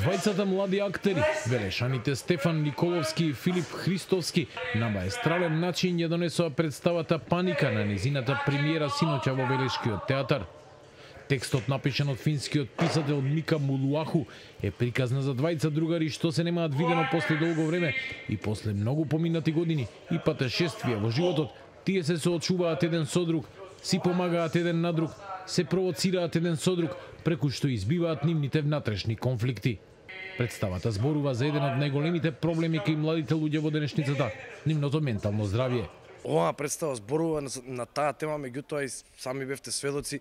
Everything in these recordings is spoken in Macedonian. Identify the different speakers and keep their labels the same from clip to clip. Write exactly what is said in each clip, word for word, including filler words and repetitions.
Speaker 1: Двајцата млади актери, велешаните Стефан Николовски и Филип Христовски, на маестрален начин ја донесоа представата Паника на незината премиера синоќа во Велешкиот театар. Текстот, напишан од финскиот писател Мика Мулуаху, е приказна за двајца другари што се немаат видено после долго време и после многу поминати години и патешествија во животот. Тие се соочуваат еден со друг, си помагаат еден на друг, се провоцираат еден со друг, преку што избиваат нивните внатрешни конфликти. Представата зборува за еден од најголемите проблеми кај младите луѓе во денешницата – нивното ментално здравје.
Speaker 2: Оваа представа зборува на, на таа тема, меѓутоа и сами бевте сведоци.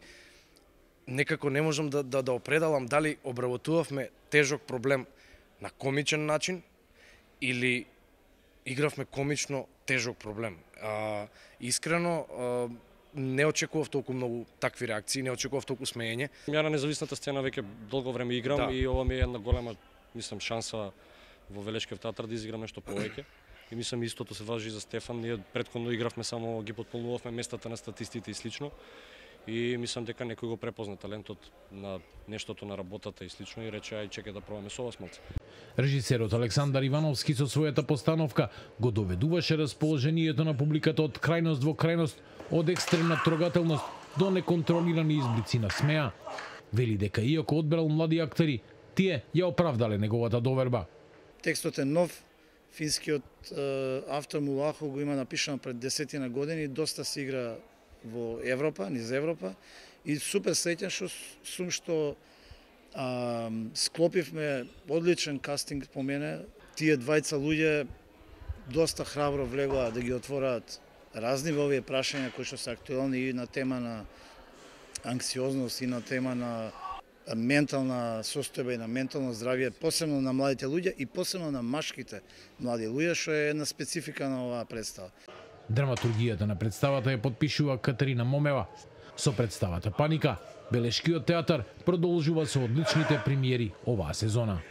Speaker 2: Некако не можам да, да, да определам дали обработувавме тежок проблем на комичен начин или игравме комично тежок проблем. А, искрено, а, не очекував толку многу такви реакции, не очекував толку смеење.
Speaker 3: Ја на независната сцена веќе долго време играм, да. И ова ми е една голема, мислам, шанса во Велешкиот театар да изиграм нешто повеќе. И мислам истото се важи за Стефан. Ние претходно игравме само ги потполнувавме местата на статистите и слично. И мислам дека некој го препозна талентот на нештото на работата и слично и рече ај чекај да пробаме со вас малце.
Speaker 1: Режисерот Александар Ивановски со својата постановка го доведуваше расположението на публиката од крајност во крајност, од екстремна трогателност до неконтролирани изблици на смеа. Вели дека иако одбрал млади актери, тие ја оправдале неговата доверба.
Speaker 4: Текстот е нов, финскиот е, автор Мулаху го има напишано пред десетина години, доста се игра во Европа, низ Европа, и супер среќен што сум што а, склопивме одличен кастинг по мене. Тие двајца луѓе доста храбро влегоа да ги отвораат разни во овие прашања кои што се актуелни и на тема на анксиозност и на тема на ментална состојба и на ментално здравје, посебно на младите луѓе и посебно на машките млади луѓе, што е една специфика на оваа представа.
Speaker 1: Драматургијата на представата ја подпишува Катерина Момева. Со представата Паника, Велешкиот театар продолжува со одличните премиери оваа сезона.